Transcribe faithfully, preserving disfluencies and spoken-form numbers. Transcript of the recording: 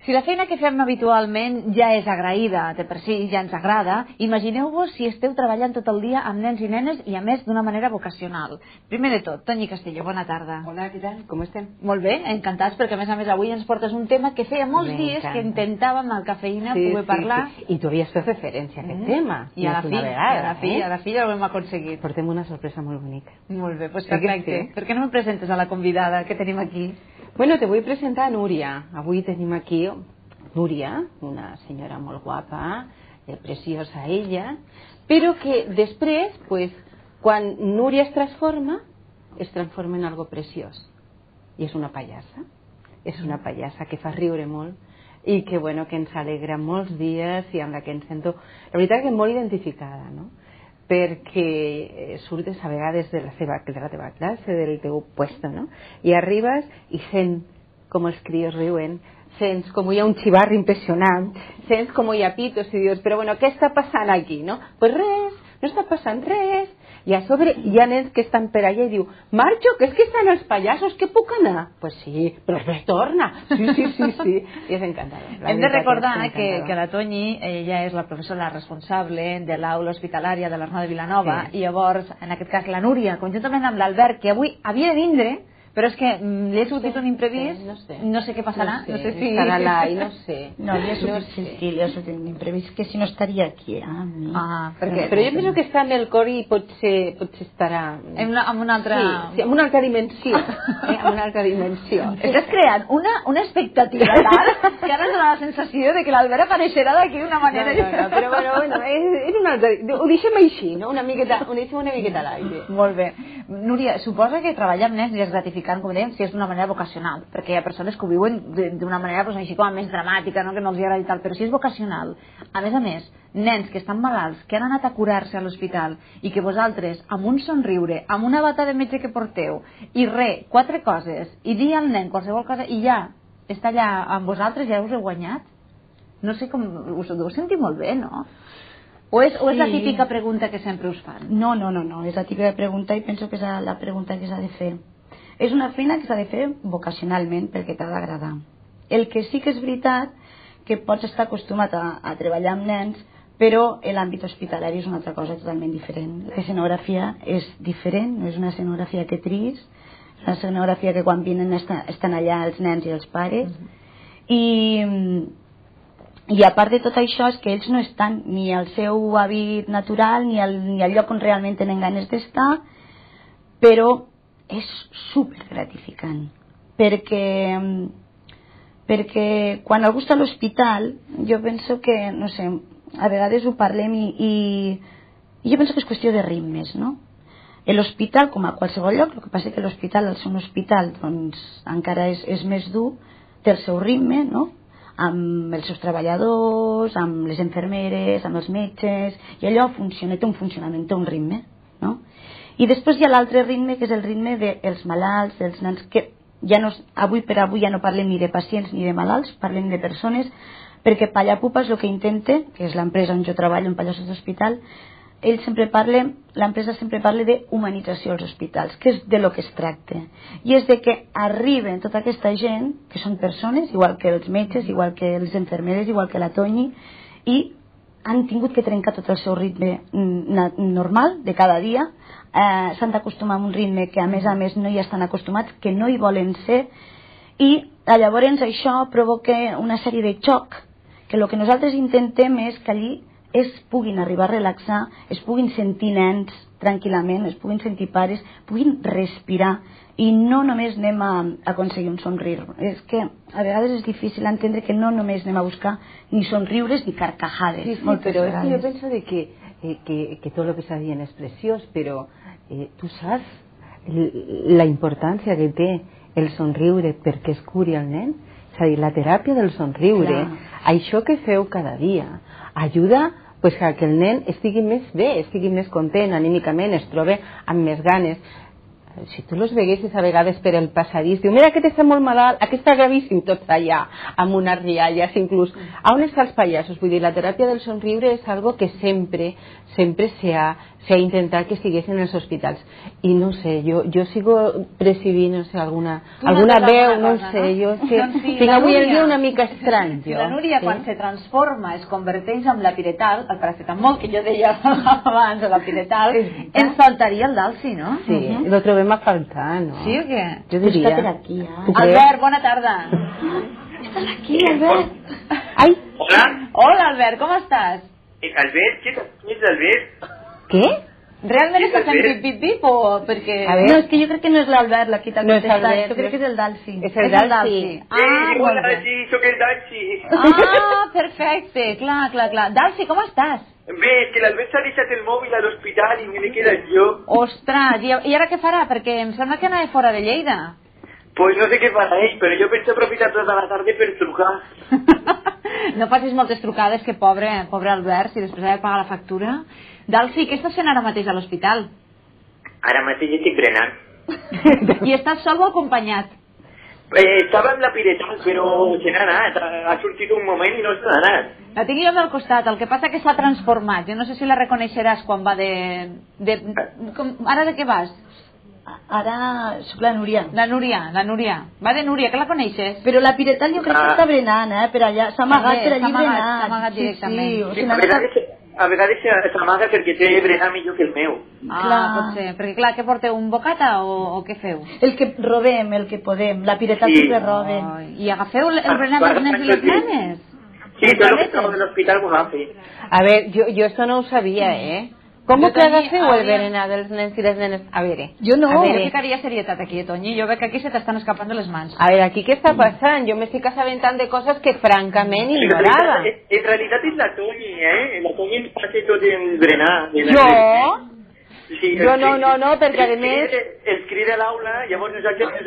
Si la feina que fem habitualment ja és agraïda, de per si ja ens agrada, imagineu-vos si esteu treballant tot el dia amb nens i nenes i a més d'una manera vocacional. Primer de tot, Toni Castillo, bona tarda. Hola, què tal? Com estem? Molt bé, encantats, perquè a més a més avui ens portes un tema que feia molts dies que intentàvem al Cafeïna sí, poder sí, parlar. Sí. I tu havies fet referència a aquest mm. tema. I a la fi, vegada, a la fi, eh? a la fi ja ho hem aconseguit. Portem una sorpresa molt bonica. Molt bé, doncs perfecte. Sí. Per què no me presentes a la convidada que tenim aquí? Bueno, te vull presentar a Núria. Avui tenim aquí Núria, una senyora molt guapa, eh, preciosa ella, però que després, pues, quan Núria es transforma, es transforma en algo preciós. I és una pallassa, és una pallassa que fa riure molt i que, bueno, que ens alegra molts dies i amb la que ens sento, la veritat que molt identificada, no? Perquè surtes a vegades de la, seva, de la teva classe, del teu puesto, no? I arribes i sent com els crios riuen, sents com hi ha un xivarri impressionant, sents com hi ha pitos i dius, però bueno, què està passant aquí, no? Pues res, no està passant res. I a sobre hi ha nens que estan per allà i diu, marxo, que és que estan els pallassos, que puc anar? Pues sí, però retorna. Sí, sí, sí, sí. I és encantador. Hem de recordar que, que la Toni, ella és la professora responsable de l'aula hospitalària de l'Arnau de Vilanova, sí. I llavors, en aquest cas, la Núria, conjuntament amb l'Albert, que avui havia de vindre, però és que li he sortit un imprevist, no sé, no sé què passarà, no sé, no sé si... Estarà allà i no sé. No, li ha sortit, no sé. Sí, li ha sortit un imprevist, que si no estaria aquí, ah, mi. Ah, perquè... Però jo penso que està en el cor i potser, potser estarà... En una, en una altra... Sí, sí, en una altra dimensió. eh, en una altra dimensió. Estàs creant una, una expectativa tal, que ara ens dona la sensació de que l'Albert apareixerà d'aquí d'una manera... No, no, no, però bueno, bueno és, és una altra... Ho deixem així, no? Una miqueta, ho deixem una miqueta a l'aire. Molt bé. Núria, suposa que treballar amb nens ja és gratificant, com dèiem, si és d'una manera vocacional, perquè hi ha persones que ho viuen d'una manera pues, així com més dramàtica, no? Que no els agrada i tal, però si és vocacional, a més a més, nens que estan malalts, que han anat a curar-se a l'hospital i que vosaltres, amb un somriure, amb una bata de metge que porteu, i re, quatre coses, i dir al nen qualsevol cosa, i ja està allà amb vosaltres, ja us heu guanyat, no sé com, us ho deu sentir molt bé, no? O és, o és sí. La típica pregunta que sempre us fan? No, no, no, no, és la típica pregunta i penso que és la pregunta que s'ha de fer. És una feina que s'ha de fer vocacionalment perquè t'ha d'agradar. El que sí que és veritat que pots estar acostumat a, a treballar amb nens, però l'àmbit hospitalari és una altra cosa totalment diferent. L'escenografia és diferent, no és una escenografia que tris, és una escenografia que quan vinen estan, estan allà els nens i els pares, mm-hmm. i... I a part de tot això és que ells no estan ni al seu hàbit natural ni al, ni al lloc on realment tenen ganes d'estar, però és super gratificant perquè, perquè quan algú està a l'hospital jo penso que, no sé, a vegades ho parlem i, i, i jo penso que és qüestió de ritmes, no? L'hospital, com a qualsevol lloc, el que passa és que l'hospital, al ser un hospital, doncs encara és, és més dur, té el seu ritme, no? Amb els seus treballadors, amb les infermeres, amb els metges, i allò funciona, té un funcionament, té un ritme, no? I després hi ha l'altre ritme, que és el ritme dels malalts, dels nens, que ja no, avui per avui ja no parlem ni de pacients ni de malalts, parlem de persones, perquè Pallapupa és el que intenta, que és l'empresa on jo treballo, en Pallassos d'Hospital, ell sempre parla, l'empresa sempre parla d'humanització als hospitals, que és de lo que es tracta. I és de que arriben tota aquesta gent, que són persones, igual que els metges, igual que les infermeres, igual que la Toni, i han tingut que trencar tot el seu ritme normal de cada dia, eh, s'han d'acostumar a un ritme que a més a més no hi estan acostumats, que no hi volen ser, i llavors això provoca una sèrie de xoc, que el que nosaltres intentem és que allí es puguin arribar a relaxar, es puguin sentir nens tranquil·lament, es puguin sentir pares, puguin respirar i no només anem a aconseguir un somriure. És que a vegades és difícil entendre que no només anem a buscar ni somriures ni carcajades. Sí, sí, però és que jo penso de que, eh, que, que tot el que s'ha dit és preciós, però eh, tu saps la importància que té el somriure perquè es curi el nen? És a dir, la teràpia del somriure, clar. Això que feu cada dia, ajuda pues, a que el nen estigui més bé, estigui més content anímicament, es trobe amb més ganes. si tu los veguessis a vegades per el passadís, diu, mira aquest està molt malalt, aquest està gravíssim, tots allà, amb unes rialles, inclús. A on estan els pallassos? Vull dir, la teràpia del somriure és algo que sempre, sempre s'ha s'ha intentat que estiguessin en els hospitals. I no sé, jo, jo sigo percibint, no sé, alguna, alguna veu, no ho sé, no? Jo és que doncs sí, tinc avui el Núria, dia una mica estrany, jo. La Núria, sí? quan se transforma, es converteix en la piretal, el paracetamol que jo deia abans, o la piretal, ens faltaria el Dalsi, no? Sí, uh -huh. Lo trobem a faltar, no? Sí o què? Jo diria. Està per aquí, eh? Albert, bona tarda. Estàs aquí, Albert. Ai. Hola. Hola, Albert, com estàs? Eh, Albert, què és Albert? Què? Realment Sí, estàs fent Albert. pip-pip-pip o perquè... A ver. No, és que jo crec que no és l'Albert la que t'ha No és contestat, Albert, jo crec no. que és el Dalsi. És el És el Dalsi. Dalsi. Ah, Ah, eh, molt hola, bé. sí, sóc el Dalsi. Ah, perfecte, clar, clar, clar. Dalsi, com estàs? Bé, és que l'Albert s'ha deixat el mòbil a l'hospital i me l'he quedat jo. Ostres, i, i ara què farà? Perquè em sembla que anava fora de Lleida. Pues no sé què farà ell, però jo penso aprofitar tota la tarda per trucar. No facis moltes trucades, que pobre, pobre Albert, si després ha de pagar la factura. Dalsi, què estàs fent ara mateix a l'hospital? Ara mateix estic berenant. I estàs sol o acompanyat? Eh, estava amb la piretal, però se n'ha anat. Ha, ha sortit un moment i no se n'ha anat. La tinc jo al costat, el que passa que s'ha transformat. Jo no sé si la reconeixeràs quan va de... de com, ara de què vas? Ara sóc la Núria. La Núria, la Núria. Va de Núria, que la coneixes? Però la Piretal jo crec que Ah. està berenant, eh? Per allà, s'ha amagat També, per allí s'ha amagat, berenant. s'ha amagat directament. Sí, sí, o Sí, sigui, a n'ha anat vegades, a vegades s'amaga perquè té berenar millor que el meu. Ah, Clar. pot ser. Perquè clar, què porteu, un bocata o, o què feu? el que robem, el que podem. La Piretal Sí. sempre roben. Ai, I agafeu el, el Ah, berenar dels nens i les nenes? Sí, tot el que trobo de l'hospital ho agafi. A ver, yo, yo esto no ho sabia, eh? Com Jo que tenia- agafeu el havia- berenar dels nens i les nenes? A veure, Jo no. a Jo veure, ficaria serietat aquí, Toñi. Jo veig que aquí se t'estan escapant de les mans. a veure, aquí què està passant? Jo m'estic assabentant de coses que francament En ignorava. realitat, en realitat és la Toni, eh? La Toni ens passa tot el berenar. de la- Jo? Sí, Jo els no, crida- no, no, perquè a els més- crida- Els crida a l'aula, llavors nosaltres,